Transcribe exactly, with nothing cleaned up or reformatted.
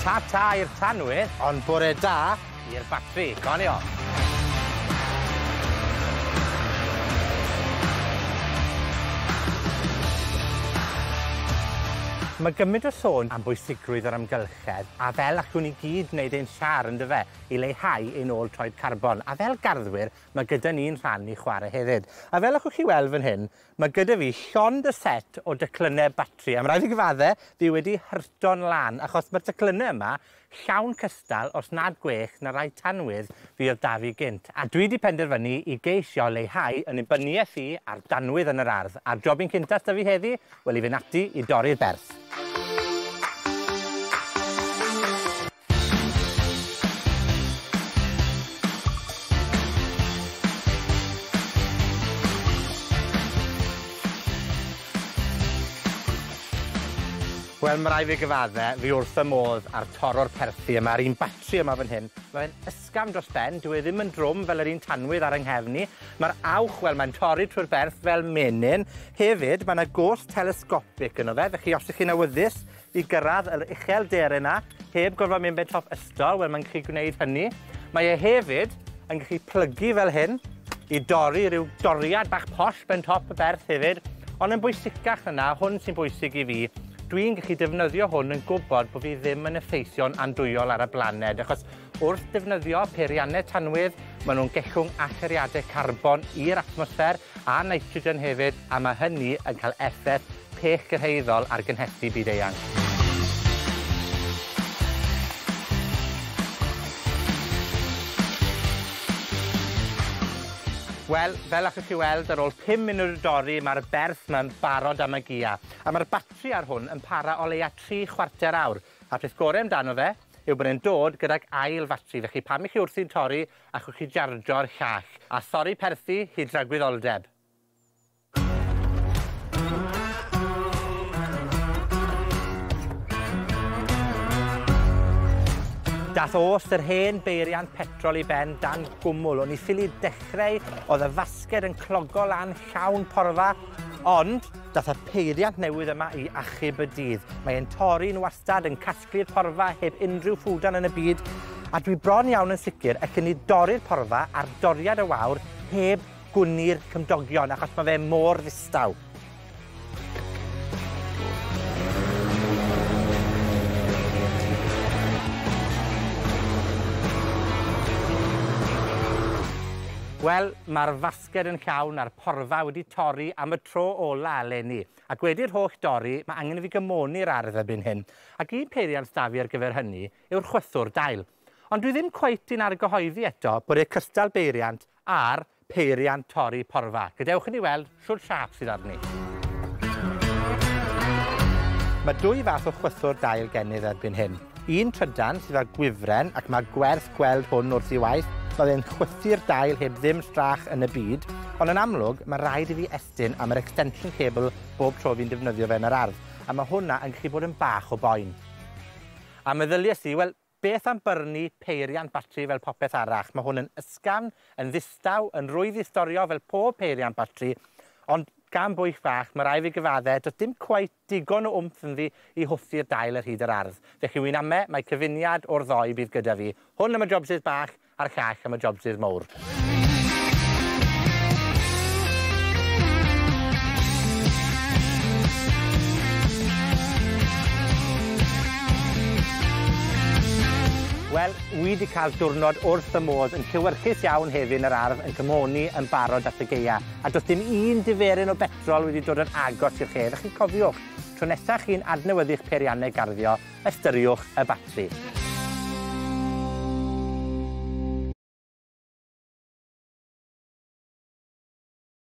Ta-ta i'r tanwydd, ond bore da i'r batri. Goni off. Mae gymaint o sôn am bwysigrwydd yr amgylchedd, a fel allwn ni gyd wneud ein siar yndyfe, i leihau ein ôl troed carbon. A fel garddwyr, mae gyda ni'n rhan i chwarae hefyd. A fel allwch chi weld fan hyn, mae gyda fi llond y set o declynnau batri. A mae rhaid i gyfadde, fi wedi hyrto'n lan, achos mae'r declynnau yma llawn cystal, os nad gwell, na rai tanwydd fi oedd da fi gynt. A dwi wedi penderfynu i geisio leihau yn nibyniaeth i ar danwydd yn yr ardd. A'r jobyn cynta s'da fi heddi, wel i fynd ati i dorri'r berth. Wel, ma' rai' fi gyfadde, fi wrth fy modd ar torro'r perthi yma, a'r un batri yma fan hyn. Ma' fe'n ysgafn dros ben, dyw e ddim yn drwm fel yr un tanwydd ar 'yng nghefn i. Ma'r awch, wel, mae'n torri trwy'r berth fel menyn. Hefyd, ma' 'na gos telescopic yno fe, felly os ych chi'n awyddus i gyrraedd yr uchelderau 'na, heb gorfod mynd ben top ystol, wel, mae'n gallu gwneud hynny. Mae e hefyd yn gallu plygu fel hyn i dorri rhyw doriad bach posh ben top y berth hefyd. Ond yn bwysicach na 'na, hwn sy'n bwysig i fi, dwi'n gallu defnyddio hwn yn gwybod bod fi ddim yn effeithio'n andwyol ar y blaned, achos wrth defnyddio peiriannau tanwydd, maen nhw'n gellwng allyriadau carbon i'r atmosffer a nitrogen hefyd, a mae hynny yn cael effaith pellgyrhaeddol ar gynhesu byd-eang. Wel, fel allwch chi weld, ar ôl pum munud o dorri, mae'r berth 'ma'n barod am y gia. A mae'r batri ar hwn yn para o leia tri chwarter awr. A'r peth gore amdano fe yw bod e'n dod gydag ail fatri. Felly pam i chi wrthi'n torri, allwch chi jarjo'r llall. A thorri perthi hyd dragwyddoldeb. Dath o's yr hen beiriant petrol i ben dan gwmwl. O'n i ffili dechrau, oedd y fasged yn clogo lan llawn porfa, ond dath y peiriant newydd yma i achub y dydd. Mae e'n torri'n wastad, yn casglu'r porfa heb unrhyw ffwdan yn y byd, a dwi bron iawn yn sicr allen ni dorri'r porfa ar doriad y wawr heb gwni'r cymdogion, achos mae fe mor ddistaw. Wel, mae'r fasged yn llawn a'r porfa wedi torri am y tro ola eleni. Ac wedi'r holl dorri, mae angen i fi gymoni'r ardd erbyn hyn. Ac un peiriant s'da fi ar gyfer hynny yw'r chwythwr dail. Ond dwi ddim cweit yn argyhoeddi eto bod e cystal beiriant a'r peiriant torri porfa. Gadewch i ni weld shwd siâp sydd arni. Mae dwy fath o chwythwr dail gennyf erbyn hyn. Un trydan sydd â gwifren, ac mae gwerth gweld hwn wrth ei waith. Mae fe'n chwythu'r dail heb ddim strach yn y byd, ond yn amlwg mae rhaid i fi estyn am yr extension cable bob tro fi'n defnyddio fe yn yr ardd, a mae hwnna yn gallu bod yn bach o boen. A meddyliais i, wel, beth am byrnu peiriant batri fel popeth arall? Mae hwn yn ysgafn, yn ddistaw, yn rwydd i storio fel pob peiriant batri, ond gan bwyll fach, mae rhaid fi gyfadde, does dim cweit digon o wmff ynddi i hwthu'r dail ar hyd yr ardd. Felly wy'n ame, mae cyfuniad o'r ddoi bydd gyda fi. Hwn am y jobsys bach, a'r llall am y jobsys mowr. Wel, wi 'di cael diwrnod wrth y modd yn llewyrchus iawn hefyd yn yr ardd, yn cymoni yn barod at y gaea. A does dim un diferyn o betrol wedi dod yn agos i'r lle. Felly cofiwch, tro nesaf chi'n adnewyddu'ch peiriannau garddio, ystyriwch y batri.